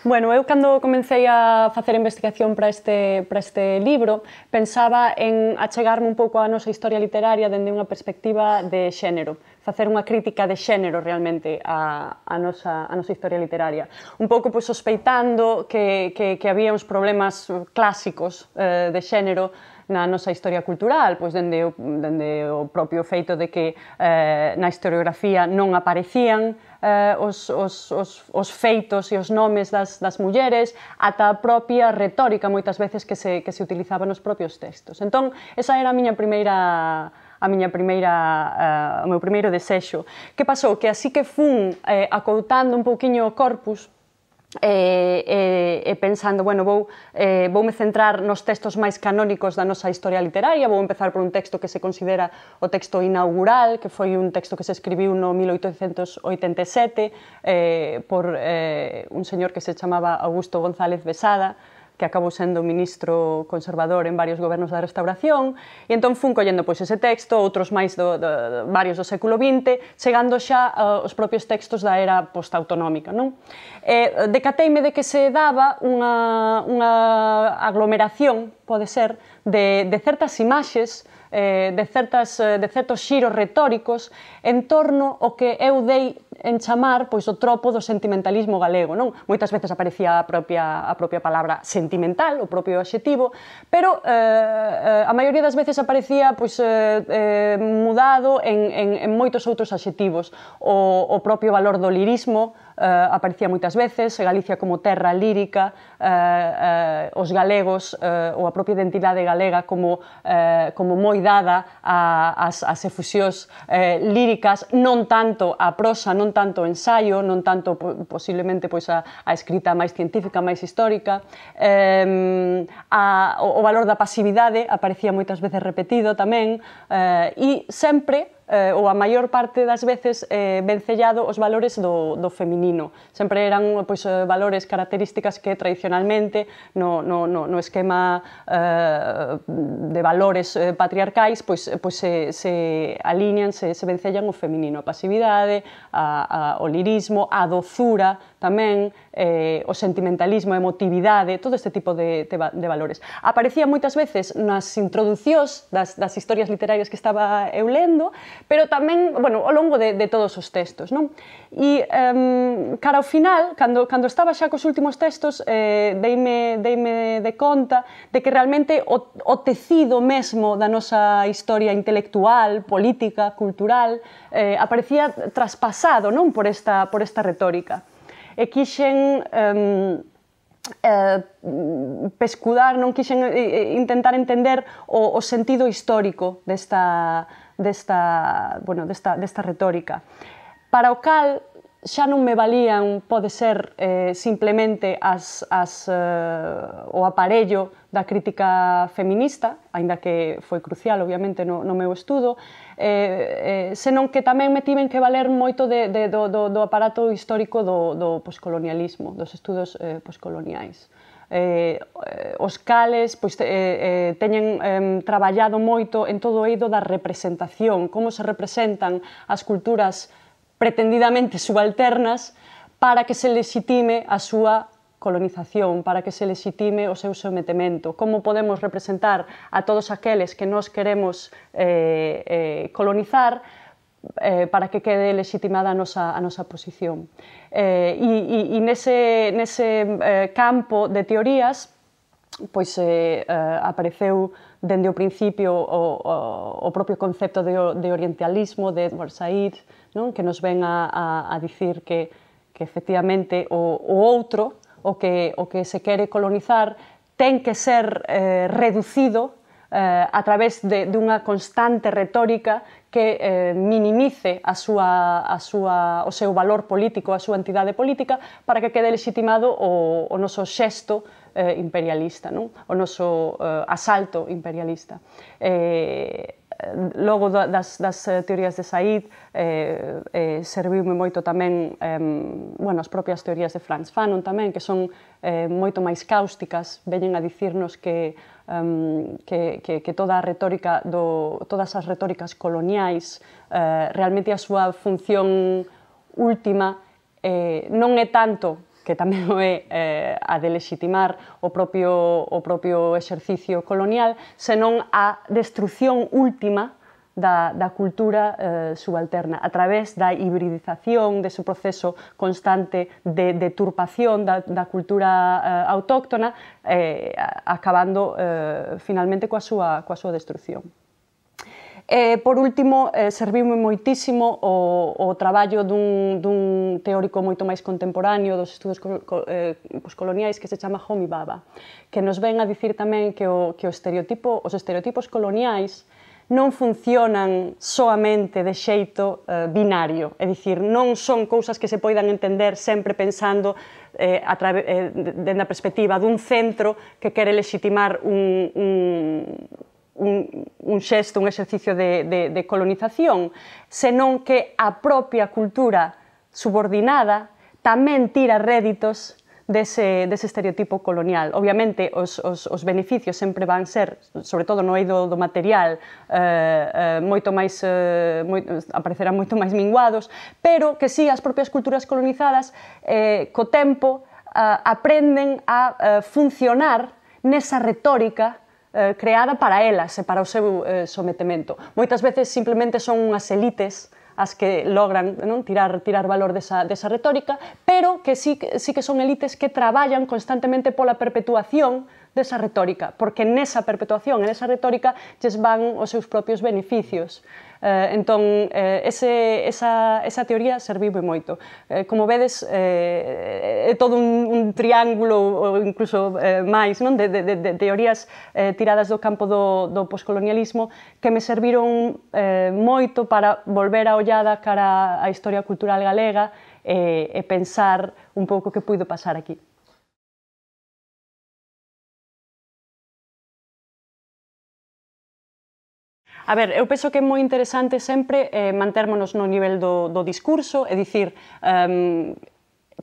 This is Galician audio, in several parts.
Bueno, eu cando comecei a facer a investigación para este libro pensaba en achegarme un pouco á nosa historia literaria dende unha perspectiva de xénero, facer unha crítica de xénero realmente á nosa historia literaria. Un pouco sospeitando que había uns problemas clásicos de xénero na nosa historia cultural, pois dende o propio feito de que na historiografía non aparecían os feitos e os nomes das mulleres, ata a propia retórica moitas veces que se utilizaba nos propios textos. Entón, esa era o meu primeiro desexo. Que pasou? Que así que fun acoutando un pouquiño o corpus e pensando, bueno, voume centrar nos textos máis canónicos da nosa historia literaria, vou empezar por un texto que se considera o texto inaugural, que foi un texto que se escribiu no 1887 por un señor que se chamaba Augusto González Besada, que acabou sendo ministro conservador en varios gobernos da Restauración, e entón fun collendo ese texto, outros máis varios do século XX, chegando xa aos propios textos da era postautonómica. Decateime de que se daba unha aglomeración, pode ser, de certas imaxes, de certos xiros retóricos en torno ao que eu dei en chamar o tropo do sentimentalismo galego. Moitas veces aparecía a propia palabra sentimental, o propio adxetivo, pero a maioría das veces aparecía mudado en moitos outros adxetivos. O propio valor do lirismo aparecía moitas veces, Galicia como terra lírica, os galegos ou a propia identidade galega como moi dada ás efusións líricas, non tanto a prosa, non tanto o ensaio, non tanto posiblemente a escrita máis científica, máis histórica. O valor da pasividade aparecía moitas veces repetido tamén, e sempre ou a maior parte das veces vencellado os valores do feminino. Sempre eran valores, características que tradicionalmente no esquema de valores patriarcais se alinean, se vencellan o feminino, a pasividade, o lirismo, a dozura tamén, o sentimentalismo, a emotividade, todo este tipo de valores. Aparecía moitas veces nas introducións das historias literarias que estaba eu lendo, pero tamén, ao longo de todos os textos. E, cara ao final, cando estaba xa cos últimos textos, deime de conta de que realmente o tecido mesmo da nosa historia intelectual, política, cultural, aparecía traspasado por esta retórica. E quixen pescudar, non quixen intentar entender o sentido histórico desta retórica. Para o cal xa non me valían, pode ser, simplemente o aparello da crítica feminista, aínda que foi crucial, obviamente, no meu estudo, senón que tamén me tiven que valer moito do aparato histórico do poscolonialismo, dos estudos poscoloniais. os cales pois, teñen traballado moito en todo o eido da representación, como se representan as culturas pretendidamente subalternas para que se legitime a súa colonización, para que se legitime o seu sometemento. Como podemos representar a todos aqueles que nós queremos colonizar para que quede legitimada a nosa posición. E nese campo de teorías pois apareceu dende o principio o propio concepto de orientalismo de Edward Said, non? Que nos ven a dicir que efectivamente o outro, o que se quere colonizar, ten que ser reducido a través dunha constante retórica que minimice o seu valor político, a súa entidade política, para que quede legitimado o noso xesto imperialista, non? O noso asalto imperialista. Logo das teorías de Said serviume moito tamén as propias teorías de Frantz Fanon tamén, que son moito máis cáusticas, veñen a dicirnos que todas as retóricas coloniais realmente a súa función última non é tanto, que tamén é a de legitimar o propio exercicio colonial, senón a destrucción última da cultura subalterna, a través da hibridización, dese proceso constante de deturpación da cultura autóctona, acabando finalmente coa súa destrucción. Por último, serviume moitísimo o traballo dun teórico moito máis contemporáneo dos estudos coloniais que se chama Homi Bhabha, que nos ven a dicir tamén que os estereotipos coloniais non funcionan soamente de xeito binario, é dicir, non son cousas que se poidan entender sempre pensando dende a perspectiva dun centro que quere legitimar un xesto, un exercicio de colonización, senón que a propia cultura subordinada tamén tira réditos dese estereotipo colonial. Obviamente, os beneficios sempre van ser, sobre todo no eido do material, aparecerán moito máis minguados, pero que si as propias culturas colonizadas, co tempo, aprenden a funcionar nesa retórica creada para elas e para o seu sometemento. Moitas veces simplemente son unhas elites as que logran tirar valor desa retórica, pero que sí que son elites que traballan constantemente pola perpetuación desa retórica, porque nesa perpetuación, nesa retórica, lles van os seus propios beneficios. Entón, esa teoría serviume moito. Como vedes, é todo un triángulo, ou incluso máis, de teorías tiradas do campo do poscolonialismo que me serviron moito para volver a ollada cara á historia cultural galega e pensar un pouco que puido pasar aquí. A ver, eu penso que é moi interesante sempre mantérmonos no nivel do discurso, é dicir,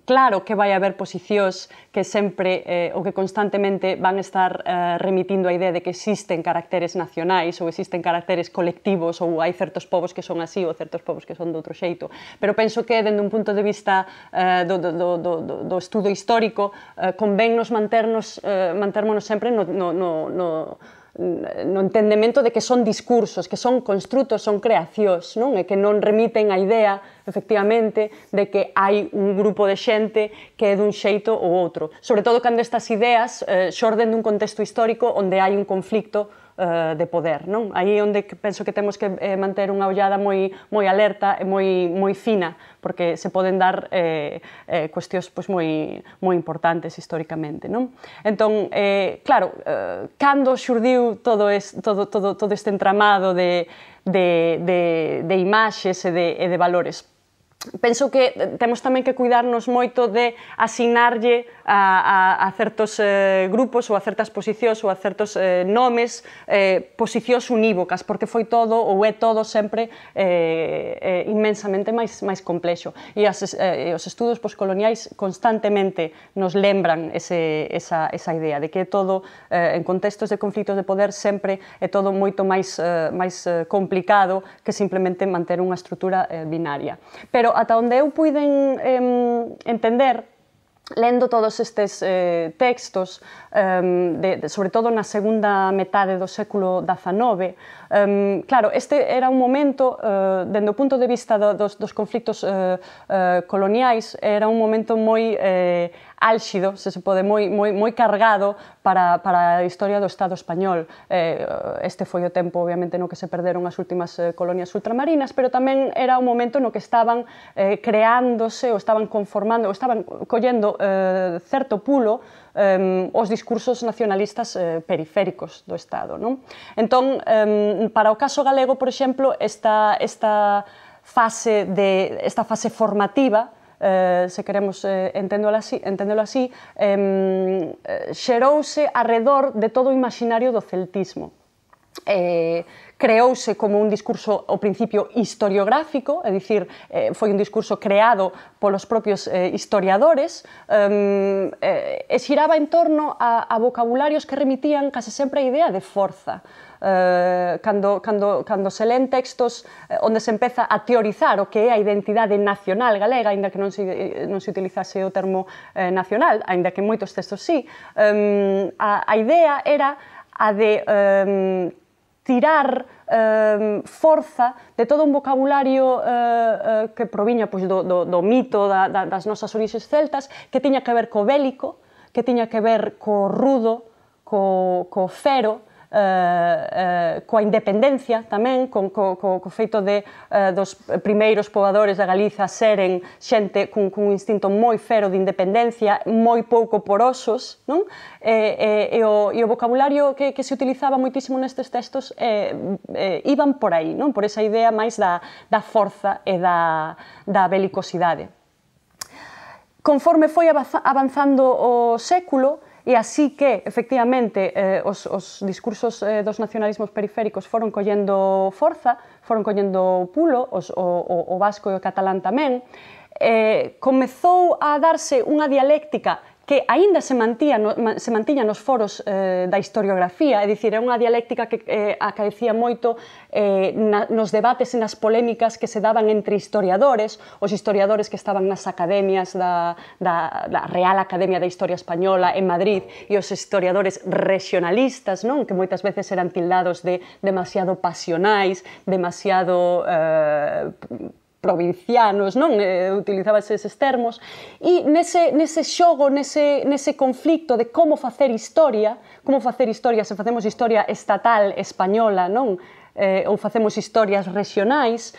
claro que vai haber posicións que sempre ou que constantemente van estar remitindo a idea de que existen caracteres nacionais ou existen caracteres colectivos ou hai certos povos que son así ou certos povos que son de outro xeito, pero penso que dende un punto de vista do estudo histórico convennos mantérmonos sempre no entendemento de que son discursos, que son construtos, son creacións, non? E que non remiten a idea, efectivamente, de que hai un grupo de xente que é dun xeito ou outro. Sobre todo cando estas ideas xorden dun contexto histórico onde hai un conflicto de poder, non? Aí é onde penso que temos que manter unha ollada moi alerta e moi fina, porque se poden dar cuestións moi importantes históricamente, non? Entón, claro, cando xurdiu todo este entramado de imaxes e de valores? penso que temos tamén que cuidarnos moito de asignarlle a certos grupos ou a certas posicións ou a certos nomes posicións unívocas, porque foi todo ou é todo sempre inmensamente máis complexo. E os estudos poscoloniais constantemente nos lembran esa idea de que é todo, en contextos de conflitos de poder, sempre é todo moito máis complicado que simplemente manter unha estrutura binaria. Pero ata onde eu puiden entender, lendo todos estes textos, sobre todo na segunda metade do século XIX, claro, este era un momento, dende o punto de vista dos conflictos coloniais, era un momento moi álxido, se pode, moi cargado para a historia do Estado español. Este foi o tempo, obviamente, no que se perderon as últimas colonias ultramarinas, pero tamén era un momento no que estaban creándose, ou estaban conformando, ou estaban collendo certo pulo os discursos nacionalistas periféricos do Estado. Entón, para o caso galego, por exemplo, esta fase formativa, se queremos entendelo así, xerouse arredor de todo o imaginario do celtismo. Creouse como un discurso ao principio historiográfico, é dicir, foi un discurso creado polos propios historiadores, e xiraba en torno a vocabularios que remitían case sempre a idea de forza. Cando se len textos onde se empeza a teorizar o que é a identidade nacional galega, aínda que non se utilizase o termo nacional, aínda que en moitos textos sí, a idea era a de tirar forza de todo un vocabulario que proviña do mito das nosas orixes celtas, que tiña que ver co bélico, que tiña que ver co rudo, co fero, coa independencia tamén, co feito dos primeiros pobadores da Galiza seren xente cun instinto moi fero de independencia, moi pouco porosos, e o vocabulario que se utilizaba moitísimo nestes textos iban por aí, por esa idea máis da forza e da belicosidade. Conforme foi avanzando o século, e así que, efectivamente, os discursos dos nacionalismos periféricos foron collendo forza, foron collendo pulo, o vasco e o catalán tamén, comezou a darse unha dialéctica que aínda se mantiña nos foros da historiografía, é dicir, é unha dialéctica que acaecía moito nos debates e nas polémicas que se daban entre historiadores, os historiadores que estaban nas academias da Real Academia de Historia Española en Madrid e os historiadores regionalistas, que moitas veces eran tildados de demasiado pasionais, demasiado provincianos, utilizábase eses termos, e nese xogo, nese conflicto de como facer historia, se facemos historia estatal española, ou facemos historias regionais,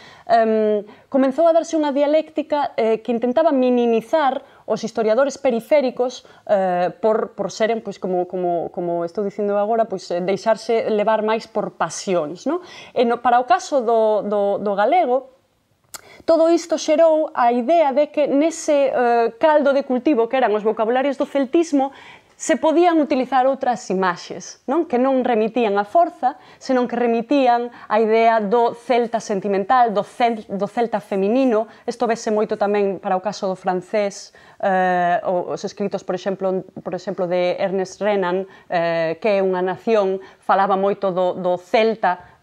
comenzou a darse unha dialéctica que intentaba minimizar os historiadores periféricos por seren, como estou dicindo agora, deixarse levar máis por pasións. Para o caso do galego, todo isto xerou a idea de que nese caldo de cultivo que eran os vocabularios do celtismo se podían utilizar outras imaxes, que non remitían a forza, senón que remitían a idea do celta sentimental, do celta feminino. Isto vese moito tamén para o caso do francés, os escritos, por exemplo, de Ernest Renan, que é unha nación, falaba moito do celta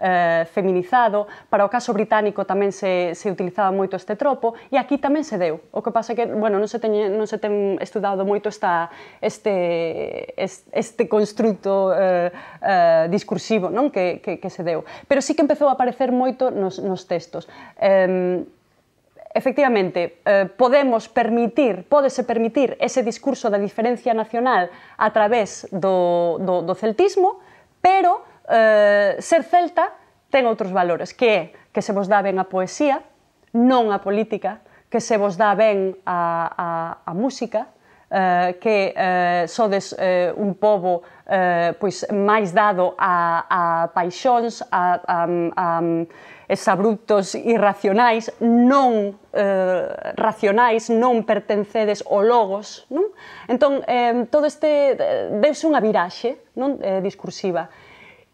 feminizado. Para o caso británico tamén se utilizaba moito este tropo, e aquí tamén se deu. O que pasa é que non se ten estudado moito este construto discursivo que se deu. Pero sí que empezou a aparecer moito nos textos. Efectivamente, pódese permitir ese discurso da diferencia nacional a través do celtismo, pero ser celta ten outros valores, que é que se vos dá ben a poesía, non a política, que se vos dá ben a música, que sodes un pobo pois máis dado a paixóns, a exabruptos irracionais, non racionais, non pertencedes ao logos, non? Entón, todo este deuse unha viraxe, non? Discursiva.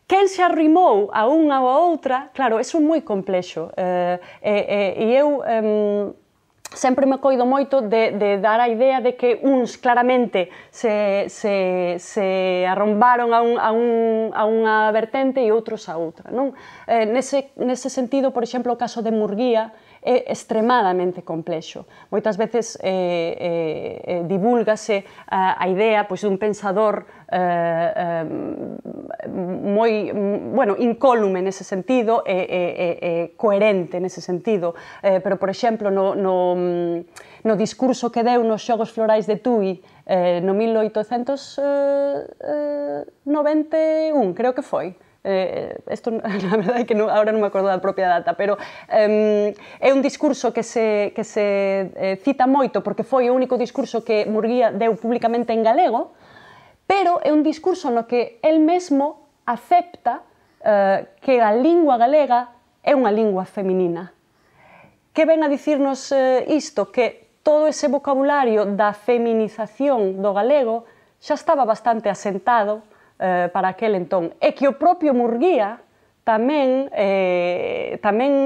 Quen se arrimou a unha ou a outra, claro, eso é moi complexo. E eu sempre me coido moito de dar a idea de que uns claramente se arrombaron a unha vertente e outros a outra, non? Nese sentido, por exemplo, o caso de Murguía é extremadamente complexo. Moitas veces divúlgase a idea dun pensador moi, bueno, incólume nese sentido e coherente nese sentido, pero, por exemplo, no discurso que deu nos Xogos Florais de Tui no 1891, creo que foi. Isto, na verdade, que agora non me acordo da propia data, pero é un discurso que se cita moito porque foi o único discurso que Murguía deu públicamente en galego, pero é un discurso no que el mesmo acepta que a lingua galega é unha lingua feminina. Que ven a dicirnos isto? Que todo ese vocabulario da feminización do galego xa estaba bastante asentado para aquel entón, e que o propio Murguía tamén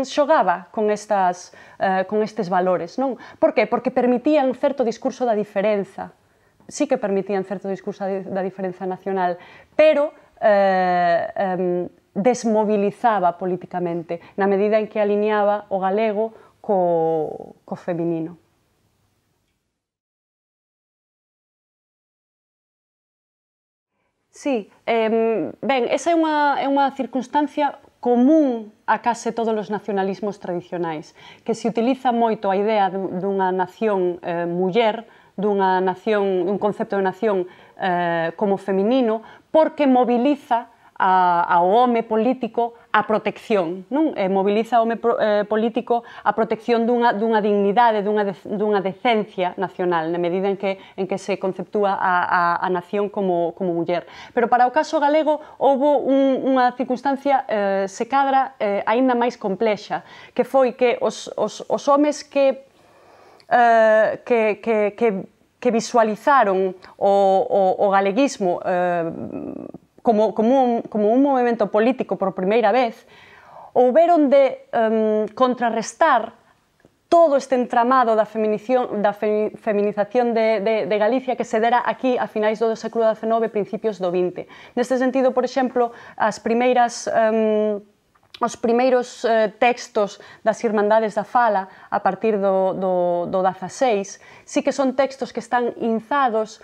xogaba con estes valores, non? Por que? Porque permitían certo discurso da diferenza, sí que permitían certo discurso da diferenza nacional, pero desmobilizaba políticamente, na medida en que alineaba o galego co feminino. Sí, ben, esa é unha circunstancia común a case todos os nacionalismos tradicionais, que se utiliza moito a idea dunha nación muller, dun concepto de nación como feminino, porque moviliza ao home político a protección, non? Moviliza ao home político a protección dunha dignidade, dunha decencia nacional, na medida en que se conceptúa a nación como muller. Pero para o caso galego houve unha circunstancia, se cadra, aínda máis complexa, que foi que os homes que visualizaron o galeguismo como un movimento político por primeira vez, houberon de contrarrestar todo este entramado da feminización de Galicia que se dera aquí a finais do século XIX e principios do XX. Neste sentido, por exemplo, os primeiros textos das Irmandades da Fala a partir do XVI sí que son textos que están inzados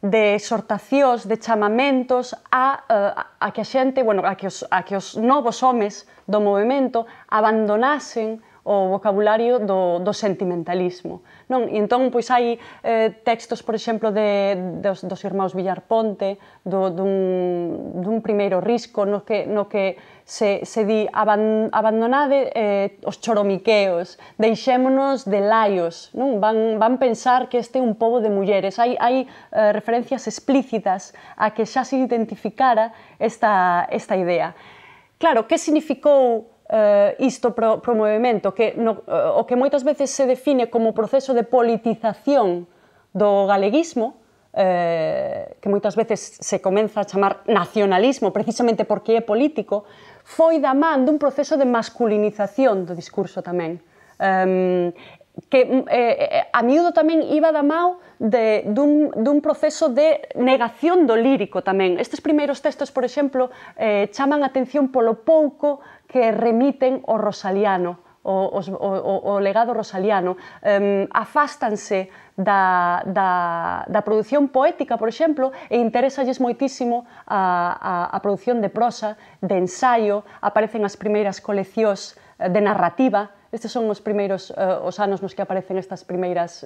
de exhortacións, de chamamentos a que a xente, bueno, a que os novos homes do movimento abandonasen o vocabulario do sentimentalismo, non? E entón, pois, hai textos, por exemplo, dos irmãos Villar Ponte, dun primeiro risco no que se di abandonade os choromiqueos, deixémonos de laios, non? Van pensar que este é un pobo de mulleres. Hai referencias explícitas a que xa se identificara esta idea. Claro, que significou isto pro movimento? O que moitas veces se define como proceso de politización do galeguismo, que moitas veces se comeza a chamar nacionalismo precisamente porque é político, foi da man dun proceso de masculinización do discurso tamén, que a miúdo tamén iba da mão dun proceso de negación do lírico tamén. Estes primeiros textos, por exemplo, chaman a atención polo pouco que remiten ao rosaliano, o legado rosaliano, afástanse da produción poética, por exemplo, e interésalles moitísimo a produción de prosa, de ensaio, aparecen as primeiras coleccións de narrativa. Estes son os primeiros os anos nos que aparecen estas primeiras,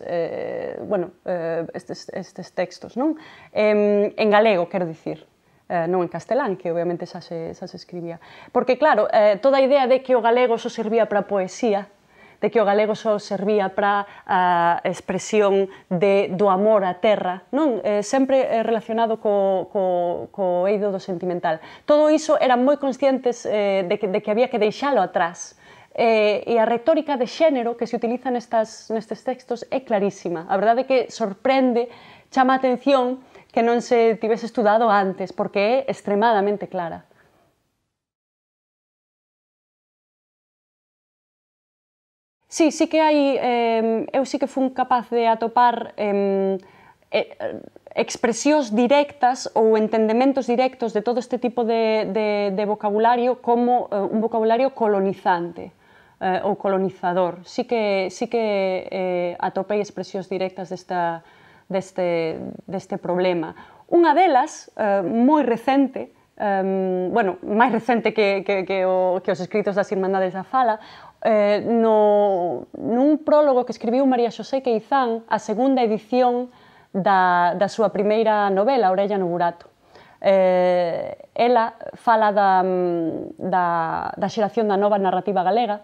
estes textos, non? En galego, quero dicir, non en castelán, que obviamente xa se escribía. Porque, claro, toda a idea de que o galego só servía para a poesía de que o galego só servía para a expresión do amor á terra, non? Sempre relacionado co eido do sentimental. Todo iso eran moi conscientes de que había que deixalo atrás. E a retórica de xénero que se utiliza nestes textos é clarísima. A verdade é que sorprende, chama a atención que non se tivese estudado antes, porque é extremadamente clara. Sí, sí que hai, eu sí que fun capaz de atopar expresións directas ou entendementos directos de todo este tipo de vocabulario como un vocabulario colonizante ou colonizador. Sí que atopei expresións directas deste problema. Unha delas, moi recente, bueno, máis recente que os escritos das Irmandades da Fala, nun prólogo que escribiu María Xosé Queizán, a segunda edición da súa primeira novela, Orella no burato. Ela fala da xeración da nova narrativa galega,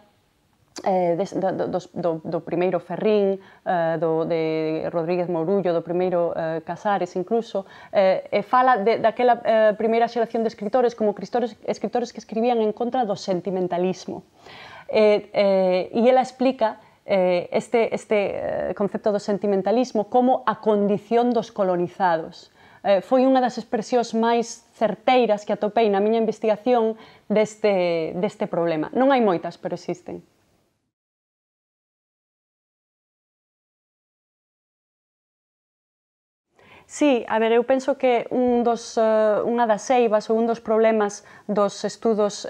do primeiro Ferrín, de Rodríguez Mourullo, do primeiro Casares incluso, e fala daquela primeira xeración de escritores como escritores que escribían en contra do sentimentalismo. E ela explica este concepto do sentimentalismo como a condición dos colonizados. Foi unha das expresións máis certeiras que atopei na miña investigación deste problema. Non hai moitas, pero existen. Sí, a ver, eu penso que unha das eivas ou un dos problemas dos estudos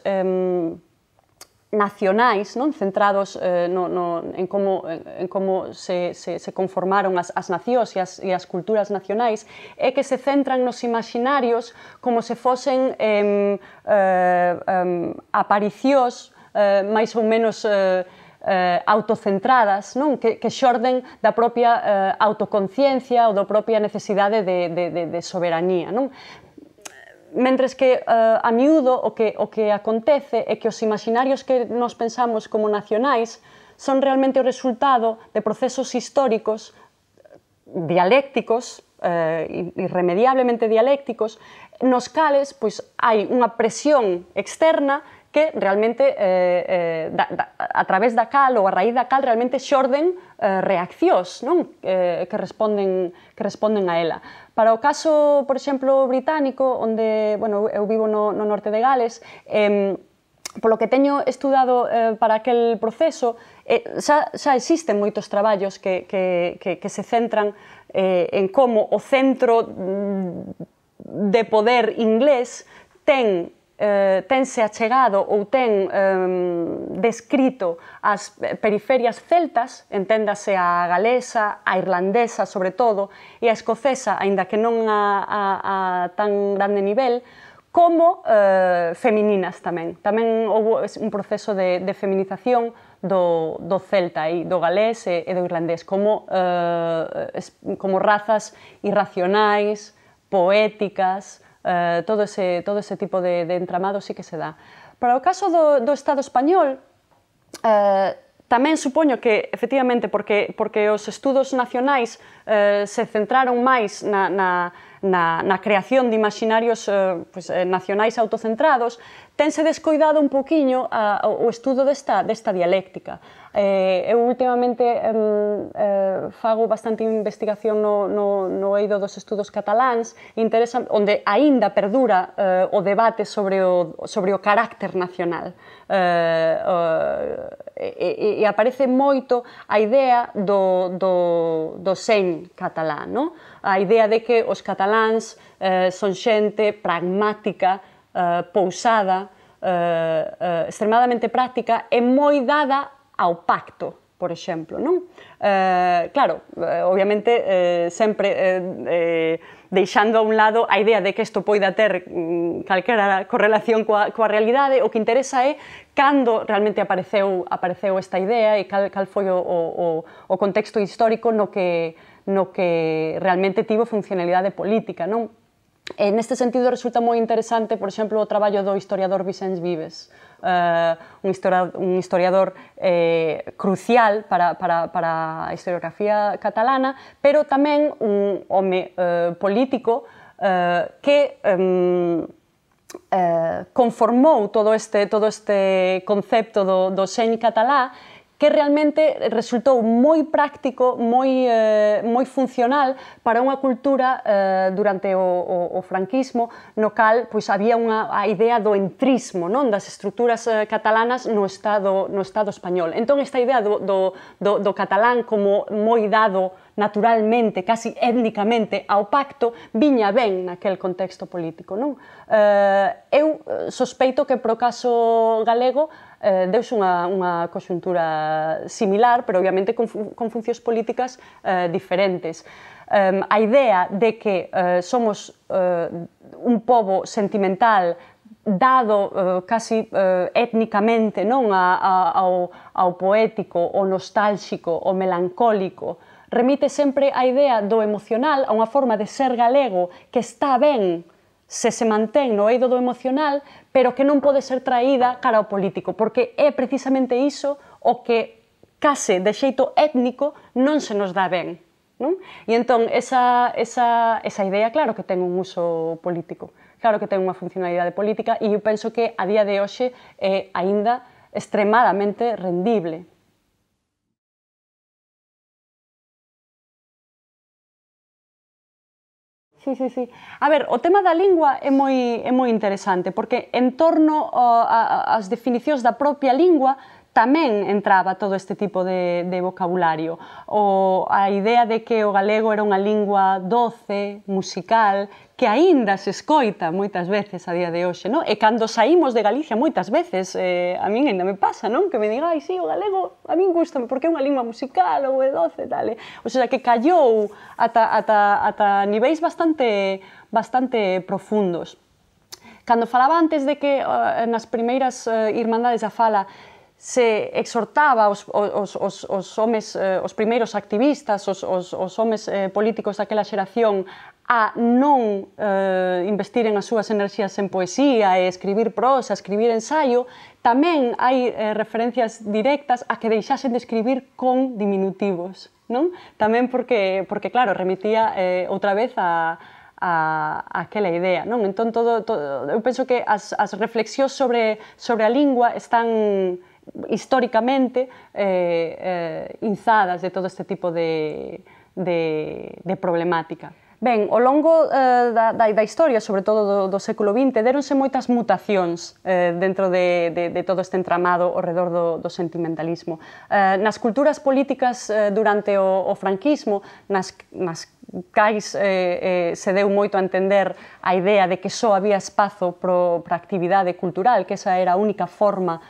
nacionais, centrados en como se conformaron as nacións e as culturas nacionais, é que se centran nos imaginarios como se fosen aparicións máis ou menos autocentradas, que xorden da propia autoconciencia ou da propia necesidade de soberanía. Mentres que a miúdo o que acontece é que os imaginarios que nos pensamos como nacionais son realmente o resultado de procesos históricos dialécticos, irremediablemente dialécticos, nos cales hai unha presión externa que realmente, a través da cal ou a raíz da cal, realmente xorden reaccións que responden a ela. Para o caso, por exemplo, británico, onde eu vivo no norte de Gales, polo que teño estudado para aquel proceso, xa existen moitos traballos que se centran en como o centro de poder inglés tense achegado ou ten descrito as periferias celtas, enténdase a galesa, a irlandesa sobre todo, e a escocesa, aínda que non a tan grande nivel, como femininas tamén. Tamén houve un proceso de feminización do celta e do galés e do irlandés como razas irracionais, poéticas, todo ese tipo de entramado sí que se dá. Para o caso do Estado español, tamén supoño que, efectivamente, porque os estudos nacionais se centraron máis na creación de imaginarios nacionais autocentrados, tense descoidado un poquinho o estudo desta dialéctica. Eu últimamente fago bastante investigación no eido dos estudos cataláns, onde aínda perdura o debate sobre o carácter nacional. E aparece moito a idea do sen catalán, a idea de que os cataláns son xente pragmática, pousada, extremadamente práctica e moi dada ao pacto, por exemplo. Claro, obviamente, sempre deixando a un lado a idea de que isto poida ter calquera correlación coa realidade, o que interesa é cando realmente apareceu esta idea e cal foi o contexto histórico no que realmente tivo funcionalidade política. E neste sentido resulta moi interesante, por exemplo, o traballo do historiador Vicens Vives, un historiador crucial para a historiografía catalana, pero tamén un home político que conformou todo este concepto do xen catalá, que realmente resultou moi práctico, moi funcional para unha cultura durante o franquismo, no cal había a idea do entrismo, das estruturas catalanas no Estado español. Entón, esta idea do catalán como moi dado naturalmente, casi étnicamente, ao pacto, viña ben naquel contexto político. Eu sospeito que pro caso galego deuse unha conxuntura similar, pero obviamente con funcións políticas diferentes. A idea de que somos un pobo sentimental dado casi étnicamente ao poético, ao nostálxico, ao melancólico, remite sempre á idea do emocional, a unha forma de ser galego que está ben se mantén no eido do emocional, pero que non pode ser traída cara ao político, porque é precisamente iso o que case de xeito étnico non se nos dá ben. E entón, esa idea, claro que ten un uso político, claro que ten unha funcionalidade política, e eu penso que a día de hoxe é aínda extremadamente rendible. Sí. A ver, o tema da lingua é moi interesante, porque en torno ás definicións da propia lingua tamén entraba todo este tipo de vocabulario. A idea de que o galego era unha lingua doce, musical, que aínda se escoita moitas veces a día de hoxe, e cando saímos de Galicia moitas veces, a min ainda me pasa, que me diga, sí, o galego a min gustame porque é unha lingua musical ou é doce, tal. O sea, que callou ata niveis bastante profundos. Cando falaba antes de que nas primeiras irmandades da fala se exhortaba os homes, os primeiros activistas, os homes políticos daquela xeración a non investiren as súas enerxías en poesía e escribir prosa, escribir ensaio, tamén hai referencias directas a que deixasen de escribir con diminutivos, tamén porque, claro, remitía outra vez a aquela idea. Entón, eu penso que as reflexións sobre a lingua están históricamente inzadas de todo este tipo de problemática. Ben, ao longo da historia, sobre todo do século XX, deronse moitas mutacións dentro de todo este entramado ao redor do sentimentalismo. Nas culturas políticas durante o franquismo, nas cais se deu moito a entender a idea de que só había espazo para a actividade cultural, que esa era a única forma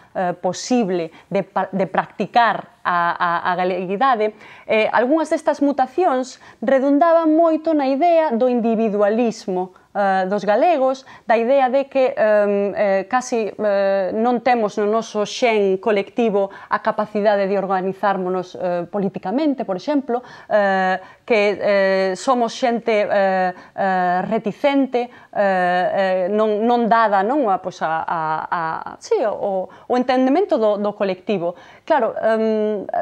posible de practicar a galeguidade. Algúnas destas mutacións redundaban moito na idea do individualismo dos galegos, da idea de que casi non temos no noso xen colectivo a capacidade de organizármonos políticamente, por exemplo, que somos xente reticente, non dada o entendemento do colectivo. Claro,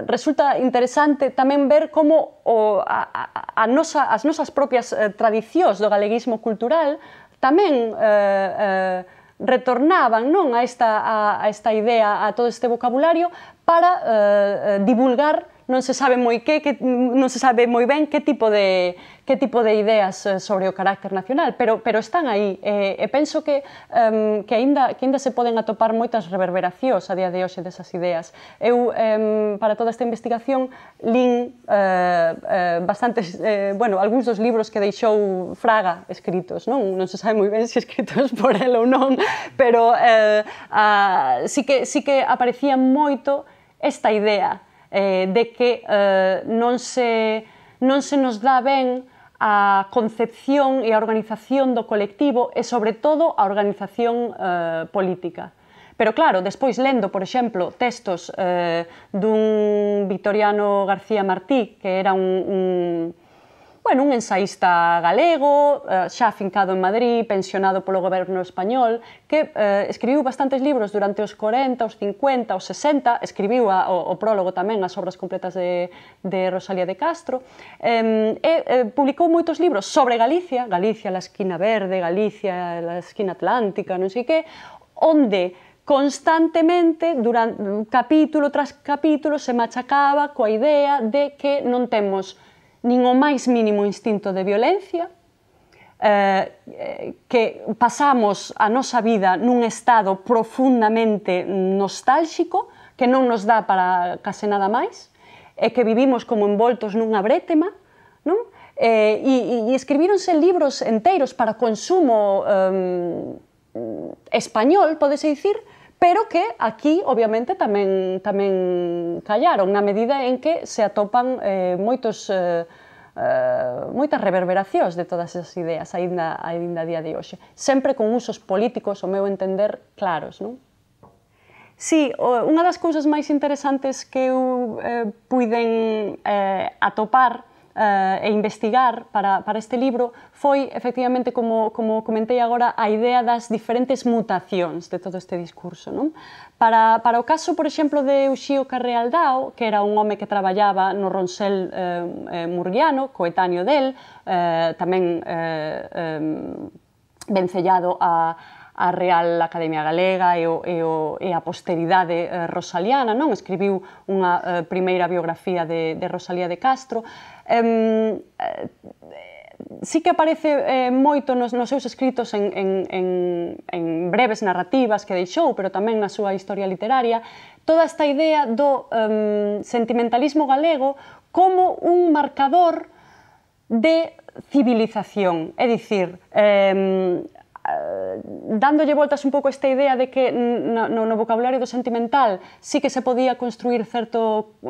resulta interesante tamén ver como as nosas propias tradicións do galeguismo cultural tamén retornaban a esta idea, a todo este vocabulario, para divulgar non se sabe moi ben que tipo de ideas sobre o carácter nacional, pero están aí, e penso que aínda se poden atopar moitas reverberacións a día de hoxe desas ideas. Eu, para toda esta investigación, lín bastantes, algúns dos libros que deixou Fraga escritos, non se sabe moi ben se escritos por el ou non, pero sí que aparecía moito esta idea de que non se nos dá ben a concepción e a organización do colectivo e, sobre todo, a organización política. Pero, claro, despois lendo, por exemplo, textos dun Victoriano García Martí, que era un bueno, un ensaísta galego, xa afincado en Madrid, pensionado polo goberno español, que escribiu bastantes libros durante os 40, os 50, os 60, escribiu o prólogo tamén, as obras completas de Rosalía de Castro, e publicou moitos libros sobre Galicia, Galicia, la esquina verde, Galicia, la esquina atlántica, non sei que, onde constantemente, durante capítulo tras capítulo, se machacaba coa idea de que non temos nin o máis mínimo instinto de violencia, que pasamos a nosa vida nun estado profundamente nostálxico, que non nos dá para case nada máis, e que vivimos como envoltos nunha brétema, non? E escribíronse libros enteiros para consumo español, podese dicir, pero que aquí, obviamente, tamén callaron, na medida en que se atopan moitas reverberacións de todas esas ideas, aínda a día de hoxe. Sempre con usos políticos, ao meu entender, claros, non? Sí, unha das cousas máis interesantes que eu puiden atopar e investigar para este libro foi, efectivamente, como comentei agora, a idea das diferentes mutacións de todo este discurso. Para o caso, por exemplo, de Uxío Carrealdao, que era un home que traballaba no Ronsel murguiano, coetáneo del, tamén vencellado a Real Academia Galega e a posteridade rosaliana, non? Escribiu unha primeira biografía de Rosalía de Castro. Sí que aparece moito nos seus escritos en breves narrativas que deixou, pero tamén na súa historia literaria, toda esta idea do sentimentalismo galego como un marcador de civilización, é dicir, dándolle voltas un pouco esta idea de que no vocabulario do sentimental sí que se podía construir certo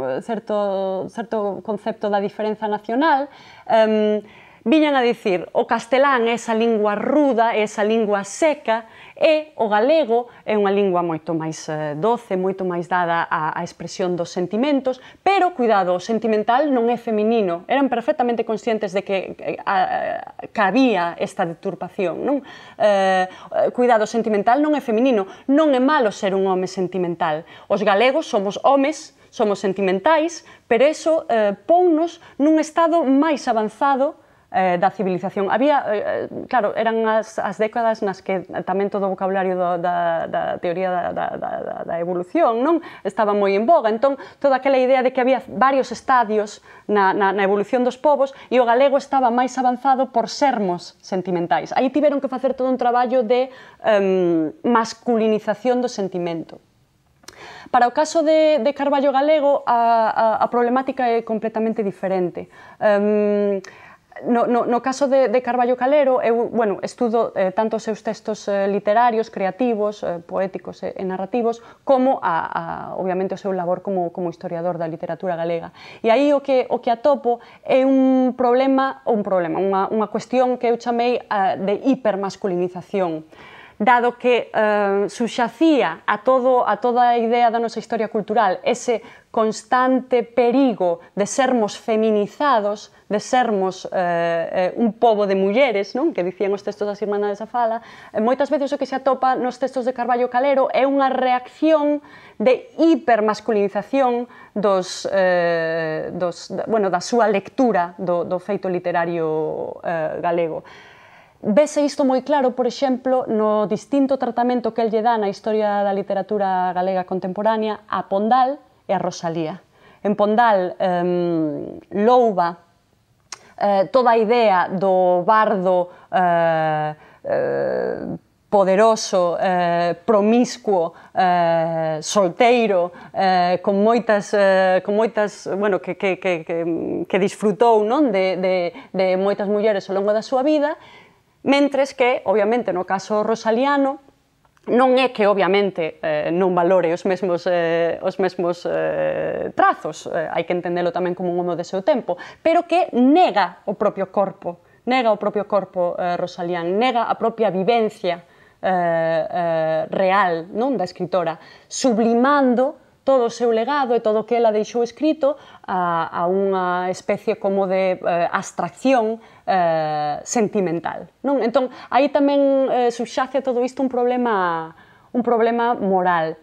concepto da diferenza nacional, viñan a dicir o castelán é esa lingua ruda, é esa lingua seca, e o galego é unha lingua moito máis doce, moito máis dada á expresión dos sentimentos, pero, cuidado, o sentimental non é feminino. Eran perfectamente conscientes de que había esta deturpación, non? Cuidado, o sentimental non é feminino, non é malo ser un home sentimental. Os galegos somos homes, somos sentimentais, pero iso ponnos nun estado máis avanzado da civilización. Había, claro, eran as décadas nas que tamén todo o vocabulario da teoría da evolución, non? Estaba moi en boga, entón toda aquela idea de que había varios estadios na evolución dos povos e o galego estaba máis avanzado por sermos sentimentais. Aí tiveron que facer todo un traballo de masculinización do sentimento. Para o caso de Carballo Galego, a problemática é completamente diferente. No caso de Carballo Calero, eu estudo tanto os seus textos literarios, creativos, poéticos e narrativos, como, obviamente, o seu labor como historiador da literatura galega. E aí o que atopo é unha cuestión que eu chamei de hipermasculinización, dado que subxacía a toda a idea da nosa historia cultural ese constante perigo de sermos feminizados, de sermos un pobo de mulleres, que dicían os textos das Irmandades da Fala. Moitas veces o que se atopa nos textos de Carballo Calero é unha reacción de hipermasculinización da súa lectura do feito literario galego. Vese isto moi claro, por exemplo, no distinto tratamento que el lle dá na historia da literatura galega contemporánea a Pondal e a Rosalía. En Pondal louva toda a idea do bardo poderoso, promiscuo, solteiro, con moitas, que disfrutou de moitas mulleres ao longo da súa vida, mentres que, obviamente, no caso rosaliano, non é que, obviamente, non valore os mesmos trazos, hai que entendelo tamén como un homo de seu tempo, pero que nega o propio corpo rosalián, nega a propia vivencia real da escritora, sublimando todo o seu legado e todo o que ela deixou escrito a unha especie como de abstracción sentimental. Non? Entón, aí tamén subxace a todo isto un problema moral.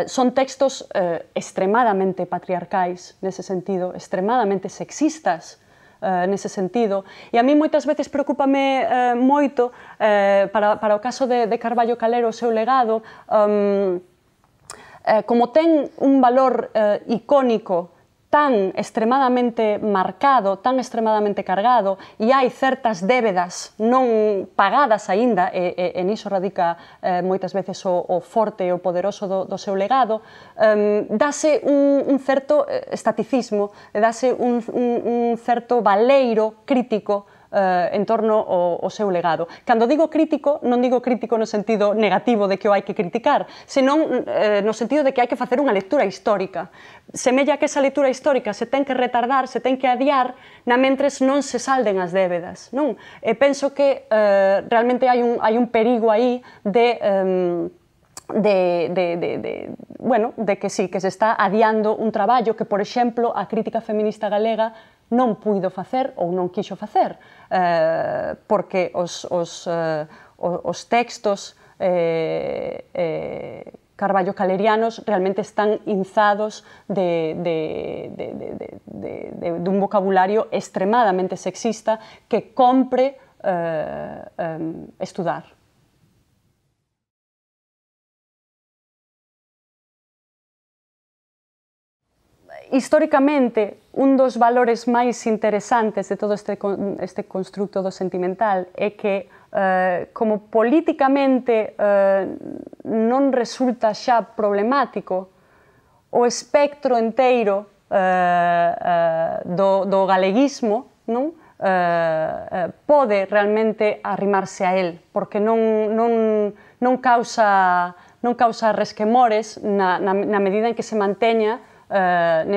Son textos extremadamente patriarcais nese sentido, extremadamente sexistas nese sentido, e a mí moitas veces preocúpame moito para o caso de Carballo Calero o seu legado, como ten un valor icónico tan extremadamente marcado, tan extremadamente cargado, e hai certas débedas non pagadas aínda, e niso radica moitas veces o forte e o poderoso do seu legado, dase un certo estaticismo, dase un certo baleiro crítico en torno ao seu legado. Cando digo crítico, non digo crítico no sentido negativo de que o hai que criticar, senón no sentido de que hai que facer unha lectura histórica. Semella que esa lectura histórica se ten que retardar, se ten que adiar, na mentres non se salden as débedas. Non? E penso que realmente hai un perigo aí de que sí, que se está adiando un traballo que, por exemplo, a crítica feminista galega non puido facer ou non quixo facer, porque os textos Carballo calerianos realmente están inzados dun vocabulario extremadamente sexista que compre estudar. Históricamente, un dos valores máis interesantes de todo este constructo do sentimental é que, como políticamente non resulta xa problemático, o espectro enteiro do galeguismo pode realmente arrimarse a él, porque non causa resquemores na medida en que se manteña no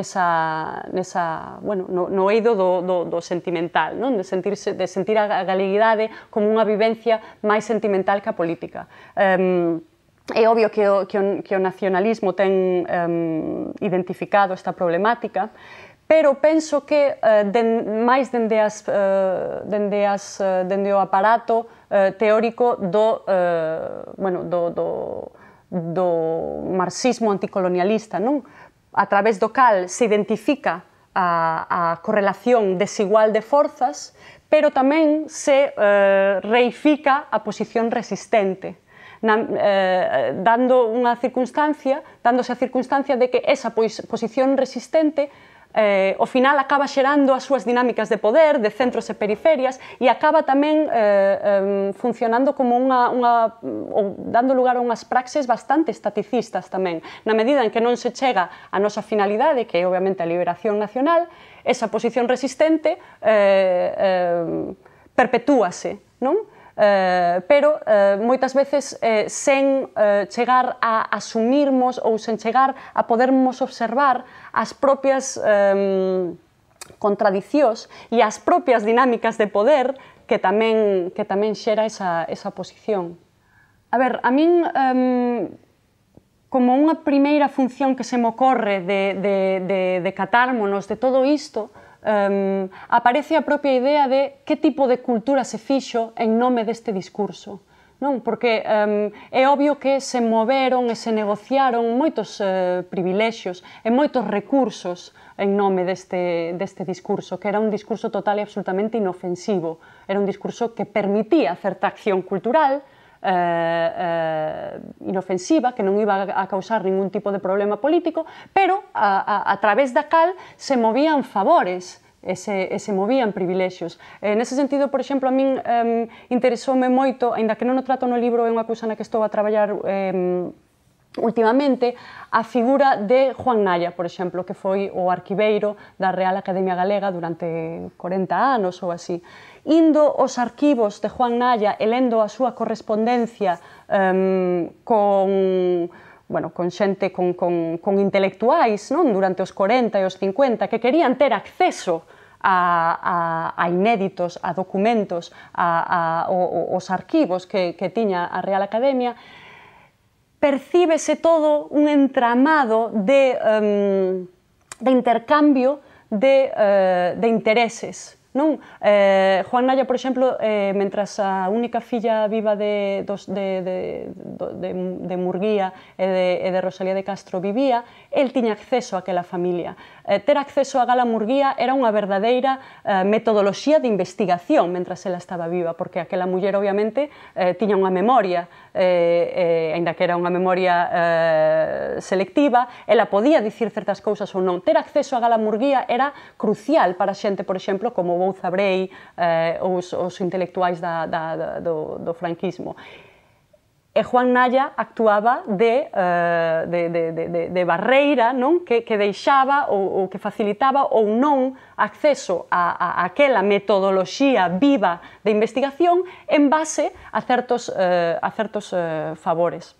eido do sentimental, de sentir a galeguidade como unha vivencia máis sentimental que a política. É obvio que o nacionalismo ten identificado esta problemática, pero penso que máis dende o aparato teórico do marxismo anticolonialista, a través do cal se identifica a correlación desigual de forzas, pero tamén se reifica a posición resistente, dándose a circunstancia de que esa posición resistente ao final acaba xerando as súas dinámicas de poder, de centros e periferias, e acaba tamén funcionando como ou dando lugar a unhas praxes bastante estaticistas tamén. Na medida en que non se chega a nosa finalidade, que é obviamente a liberación nacional, esa posición resistente perpetúase, non? Pero moitas veces sen chegar a asumirmos ou sen chegar a podermos observar as propias contradicións e as propias dinámicas de poder que tamén xera esa posición. A ver, a min, como unha primeira función que se me ocorre de catármonos de todo isto, aparece a propia idea de que tipo de cultura se fixo en nome deste discurso. Porque é obvio que se moveron e se negociaron moitos privilexios e moitos recursos en nome deste discurso, que era un discurso total e absolutamente inofensivo. Era un discurso que permitía certa acción cultural inofensiva, que non iba a causar ningún tipo de problema político, pero a través da cal se movían favores e se movían privilexios. Nese sentido, por exemplo, a min interesoume moito, aínda que non o trato no libro, é unha cousa na que estou a traballar últimamente, a figura de Juan Naya, por exemplo, que foi o arquiveiro da Real Academia Galega durante 40 anos ou así. Indo aos arquivos de Juan Naya e lendo a súa correspondencia con xente, con intelectuais durante os 40 e os 50 que querían ter acceso a inéditos, a documentos, aos arquivos que tiña a Real Academia, percíbese todo un entramado de intercambio de intereses. Non? Juan Naya, por exemplo, mentras a única filla viva de Murguía e de Rosalía de Castro vivía, el tiña acceso a aquela familia. Ter acceso a Gala Murguía era unha verdadeira metodoloxía de investigación mentras ela estaba viva, porque aquela muller, obviamente, tiña unha memoria, aínda que era unha memoria selectiva, ela podía dicir certas cousas ou non. Ter acceso a Gala Murguía era crucial para xente, por exemplo, como Bouza Brei, os intelectuais do franquismo. E Juan Naya actuaba de barreira, non? Que deixaba ou que facilitaba ou non acceso a aquela metodoloxía viva de investigación en base a certos favores,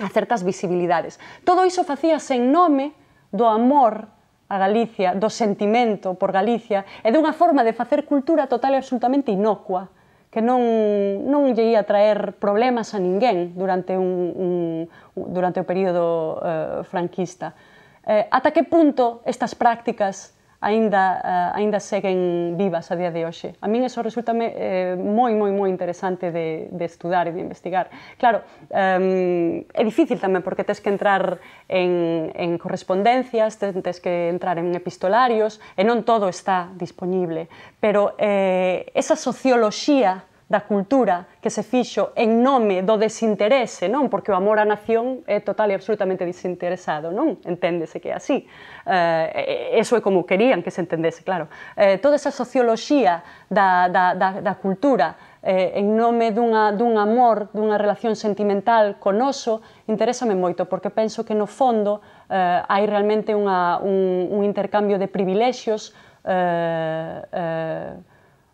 a certas visibilidades. Todo iso facíase en nome do amor a Galicia, do sentimento por Galicia e dunha forma de facer cultura total e absolutamente inocua, que non lle ia traer problemas a ninguén durante o período franquista. Ata que punto estas prácticas aínda seguen vivas a día de hoxe? A min eso resulta moi interesante de estudar e de investigar. Claro, é difícil tamén porque tes que entrar en correspondencias, tes que entrar en epistolarios e non todo está disponible, pero esa socioloxía da cultura que se fixo en nome do desinterese, non? Porque o amor á nación é total e absolutamente desinteresado, non? Enténdese que é así. Eso é como querían que se entendese, claro. Toda esa socioloxía da cultura en nome dun amor, dunha relación sentimental con oso, interésame moito, porque penso que no fondo hai realmente un intercambio de privilexios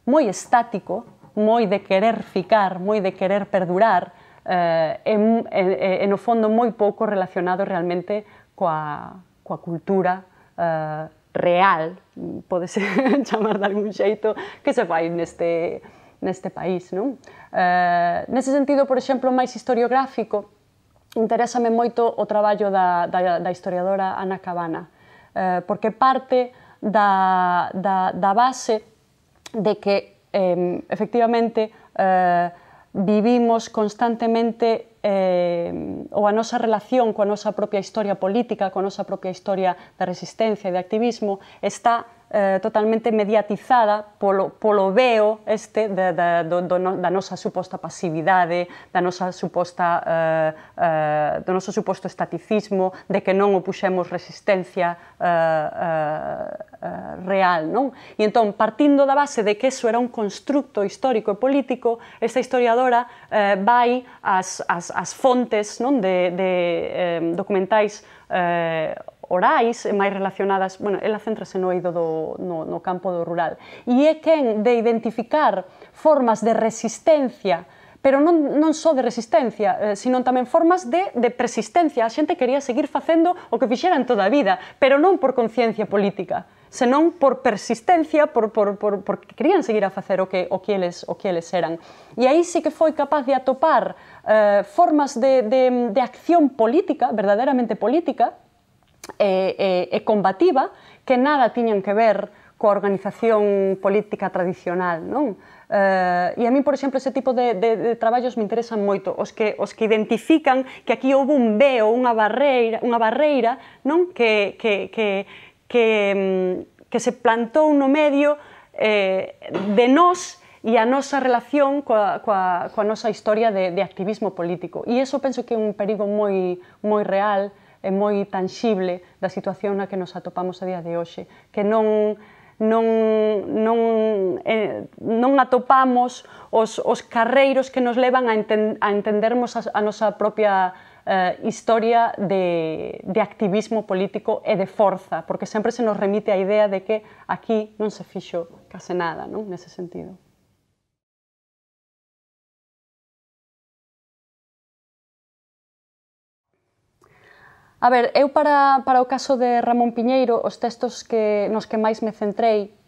moi estático, moi de querer ficar, moi de querer perdurar, e no fondo moi pouco relacionado realmente coa cultura real, podese chamar de algún xeito, que se fai neste país, non? Nese sentido, por exemplo, máis historiográfico, interésame moito o traballo da historiadora Ana Cabana, porque parte da base de que efectivamente vivimos constantemente ou a nosa relación coa nosa propia historia política, coa nosa propia historia de resistencia e de activismo está totalmente mediatizada polo veo da nosa suposta pasividade, do noso suposto estaticismo, de que non opuxemos resistencia real, non? E entón, partindo da base de que eso era un constructo histórico e político, esta historiadora vai ás fontes de documentais orais e máis relacionadas, bueno, ela céntrase no eido no campo do rural, e é quen de identificar formas de resistencia, pero non só de resistencia, sino tamén formas de persistencia. A xente quería seguir facendo o que fixeran toda a vida, pero non por conciencia política, senón por persistencia, porque querían seguir a facer o que eles eran. E aí sí que foi capaz de atopar formas de acción política, verdadeiramente política, e combativa, que nada tiñan que ver coa organización política tradicional, non? E a mí, por exemplo, ese tipo de traballos me interesan moito, os que identifican que aquí houve un veo, unha barreira, non? Que se plantou no medio de nós e a nosa relación coa nosa historia de activismo político. E iso penso que é un perigo moi real e moi tanxible da situación na que nos atopamos a día de hoxe, que non atopamos os carreiros que nos levan a entendermos a nosa propia historia de activismo político e de forza, porque sempre se nos remite a idea de que aquí non se fixo case nada, non? Nese sentido. A ver, eu para o caso de Ramón Piñeiro, os textos nos que máis me centrei,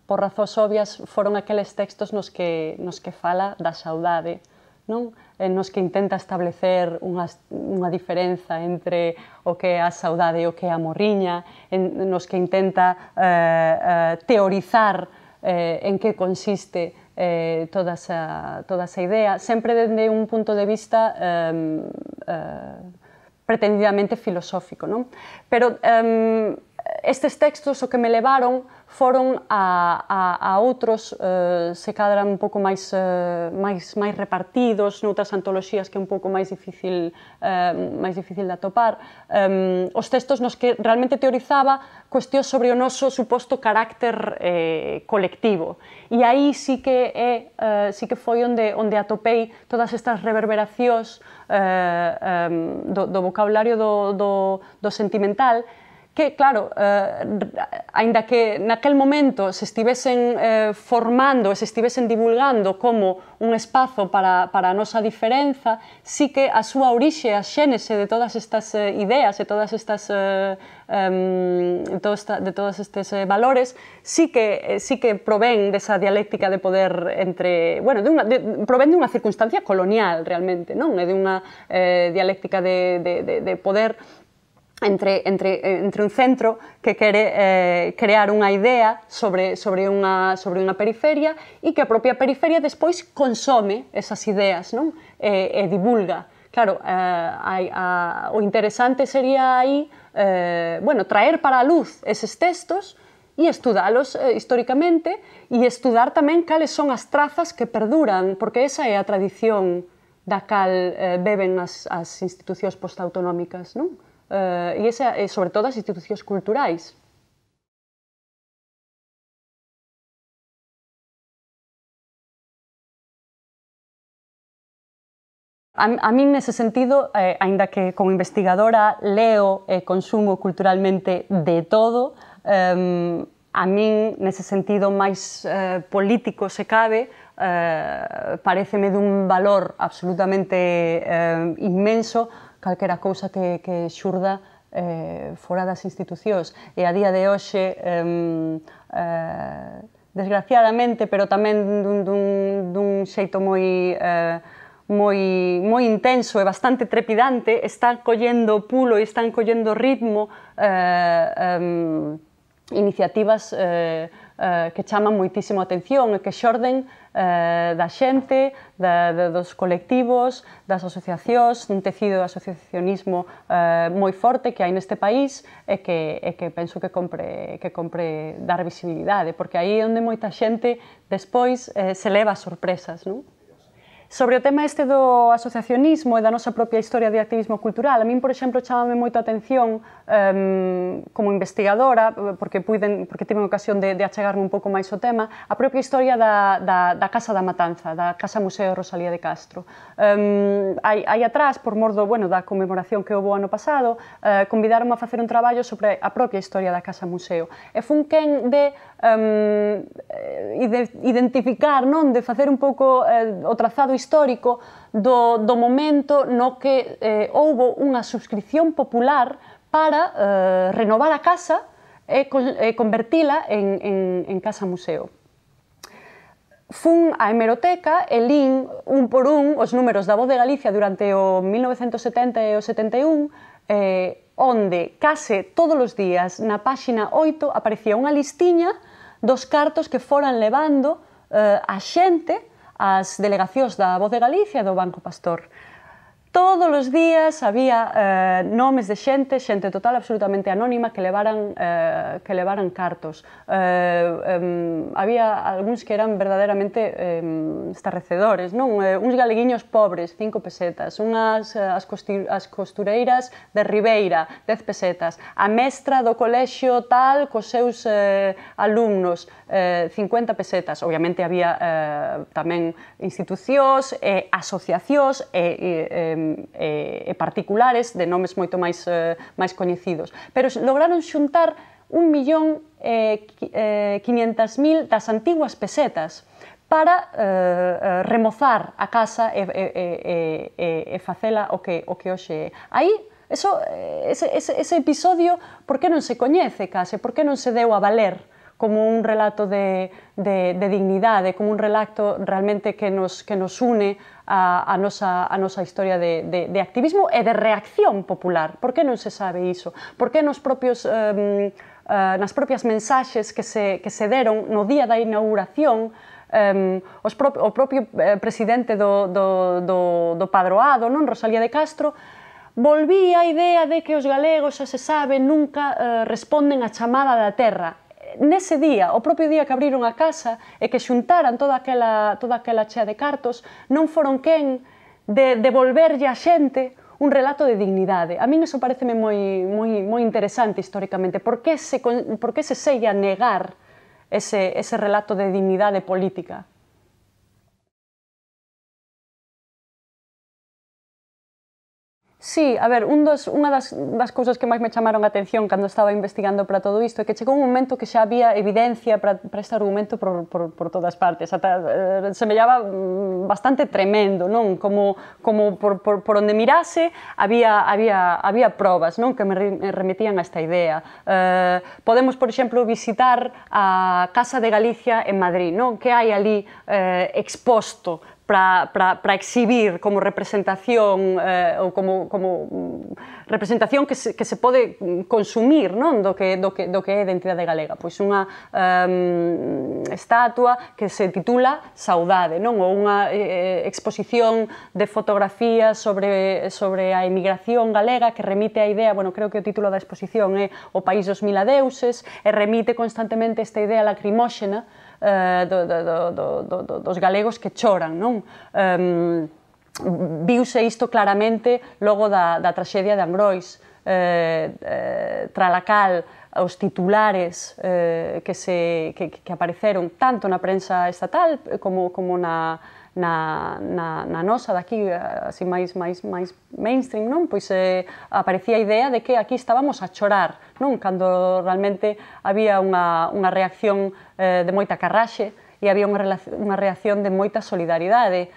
por razóns obvias, foron aqueles textos nos que fala da saudade, non? Nos que intenta establecer unha diferenza entre o que é a saudade e o que é a morriña, nos que intenta teorizar en que consiste toda esa idea, sempre dende un punto de vista pretendidamente filosófico, non? Pero estes textos o que me levaron foron a outros, se cadra un pouco máis repartidos, noutras antoloxías que é un pouco máis difícil de atopar, os textos nos que realmente teorizaba cuestións sobre o noso suposto carácter colectivo. E aí sí que foi onde atopei todas estas reverberacións do vocabulario do sentimental, que, claro, aínda que naquel momento se estivesen formando, se estivesen divulgando como un espazo para a nosa diferenza, sí que a súa orixe, a xénese de todas estas ideas, de todos estes valores, sí que provén desa dialéctica de poder entre, bueno, provén dunha circunstancia colonial, realmente, non? É dunha dialéctica de poder entre un centro que quere crear unha idea sobre unha periferia e que a propia periferia despois consome esas ideas, non? E divulga. Claro, o interesante sería aí traer para a luz eses textos e estudalos históricamente e estudar tamén cales son as trazas que perduran, porque esa é a tradición da cal beben as institucións postautonómicas, non? E sobre todo as institucións culturais. A min, nese sentido, aínda que como investigadora leo e consumo culturalmente de todo, a min, nese sentido máis político, se cabe, pareceme dun valor absolutamente inmenso calquera cousa que xurda fora das institucións. E a día de hoxe, desgraciadamente, pero tamén dun xeito moi intenso e bastante trepidante, están collendo pulo e están collendo ritmo iniciativas que chaman moitísimo a atención e que xorden da xente, dos colectivos, das asociacións, un tecido de asociacionismo moi forte que hai neste país e que penso que compre dar visibilidade, porque aí é onde moita xente despois se leva as sorpresas, non? Sobre o tema este do asociacionismo e da nosa propia historia de activismo cultural, a min, por exemplo, chamame moita atención como investigadora, porque tive a ocasión de achegarme un pouco máis ao tema, a propia historia da Casa da Matanza, da Casa Museo Rosalía de Castro. Aí atrás, por mor da conmemoración que houve o ano pasado, convidaron a facer un traballo sobre a propia historia da Casa Museo. E fun quen de identificar, de facer un pouco o trazado histórico do momento no que houbo unha subscripción popular para renovar a casa e convertila en casa museo. Fun á hemeroteca e lín un por un os números da Voz de Galicia durante o 1970 e o 71, onde case todos os días na páxina 8 aparecía unha listiña dos cartos que foran levando a xente ás delegacións da Voz de Galicia e do Banco Pastor. Todos os días había nomes de xente total absolutamente anónima que levaran cartos. Había algúns que eran verdadeiramente estarrecedores, non? Uns galeguiños pobres, 5 pesetas, as costureiras de Ribeira, 10 pesetas, a mestra do colexio tal cos seus alumnos, 50 pesetas. Obviamente había tamén institucións, asociacións e particulares de nomes moito máis coñecidos. Pero lograron xuntar 1.500.000 das antiguas pesetas para remozar a casa e facela o que hoxe é. Aí, ese episodio, por que non se coñece case? Por que non se deu a valer un relato de dignidade, como un relato realmente que nos une a nosa historia de activismo e de reacción popular. Por que non se sabe iso? Por que nas propias mensaxes que se deron no día da inauguración, o propio presidente do Padroado, Rosalía de Castro, volvía a idea de que os galegos, xa se sabe, nunca responden á chamada da terra. Nese día, o propio día que abriron a casa e que xuntaran toda aquela chea de cartos, non foron quen de devolverlle a xente un relato de dignidade. A min iso pareceme moi interesante históricamente. Por que se segue a negar ese relato de dignidade política? Sí, a ver, unha das cousas que máis me chamaron a atención cando estaba investigando para todo isto é que chegou un momento que xa había evidencia para este argumento por todas partes, ata semellaba bastante tremendo, non? Como por onde mirase había probas, non? Que me remitían a esta idea. Podemos, por exemplo, visitar a Casa de Galicia en Madrid, non? Que hai ali exposto para exhibir como representación ou como representación que se pode consumir, non? Do que é a identidade galega. Pois unha estatua que se titula Saudade, non? Ou unha exposición de fotografías sobre a emigración galega que remite a idea, bueno, creo que o título da exposición é O país dos mil adeuses, e remite constantemente esta idea lacrimóxena dos galegos que choran, non? Viuse isto claramente logo da traxedia de Angrois, tralacal, os titulares que apareceron tanto na prensa estatal como na nosa daqui, así máis mainstream, non? Pois aparecía a idea de que aquí estábamos a chorar, non? Cando realmente había unha reacción de moita carraxe e había unha reacción de moita solidaridade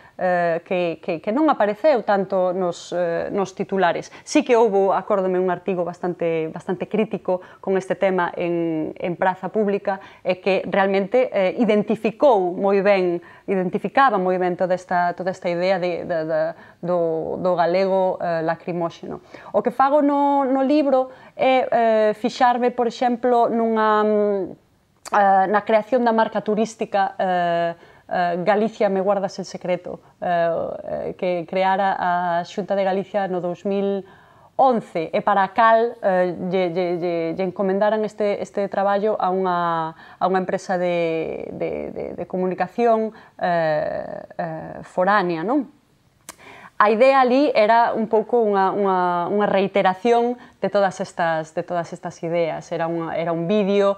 que non apareceu tanto nos titulares. Sí que houve, acórdome, un artigo bastante crítico con este tema en praza pública e que realmente identificaba moi ben toda esta idea do galego lacrimóxeno. O que fago no libro é fixarme, por exemplo, na creación da marca turística Galicia me guardas el secreto, que creara a Xunta de Galicia no 2011 e para a cal lle encomendaran este traballo a unha empresa de comunicación foránea, non? A idea ali era un pouco unha reiteración de todas estas ideas. Era un vídeo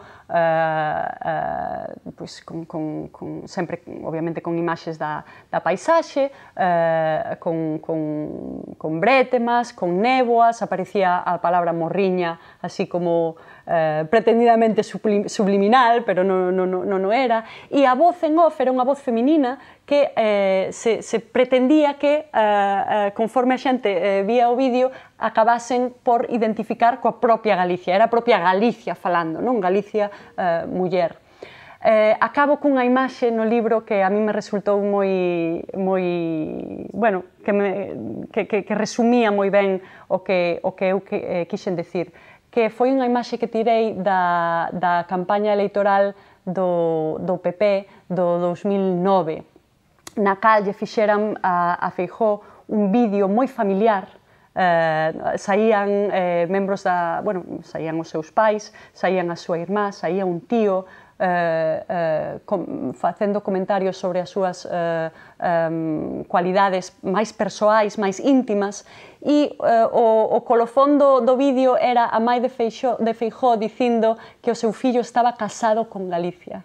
sempre, obviamente, con imaxes da paisaxe, con brétemas, con néboas, aparecía a palabra morriña, así como pretendidamente subliminal, pero non era, e a voz en off era unha voz feminina que se pretendía que, conforme a xente vía o vídeo, acabasen por identificar coa propia Galicia. Era a propia Galicia falando, non? Galicia muller. Acabo cunha imaxe no libro que a mí me resultou moi bueno, que resumía moi ben o que eu quixen decir, que foi unha imaxe que tirei da campaña electoral do PP do 2009, na cal lle fixeran a Feijóo un vídeo moi familiar. Saían membros saían os seus pais, saían a súa irmá, saía un tío facendo comentarios sobre as súas cualidades máis persoais, máis íntimas, e o colofón do vídeo era a mãe de Feijóo dicindo que o seu fillo estaba casado con Galicia.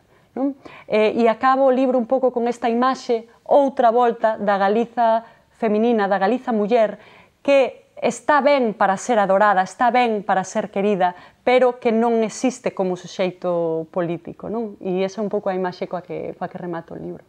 E acabo o libro un pouco con esta imaxe, outra volta da Galiza feminina, da Galiza muller, que está ben para ser adorada, está ben para ser querida, pero que non existe como suxeito político, non? E esa é un pouco a imaxe coa que remato o libro.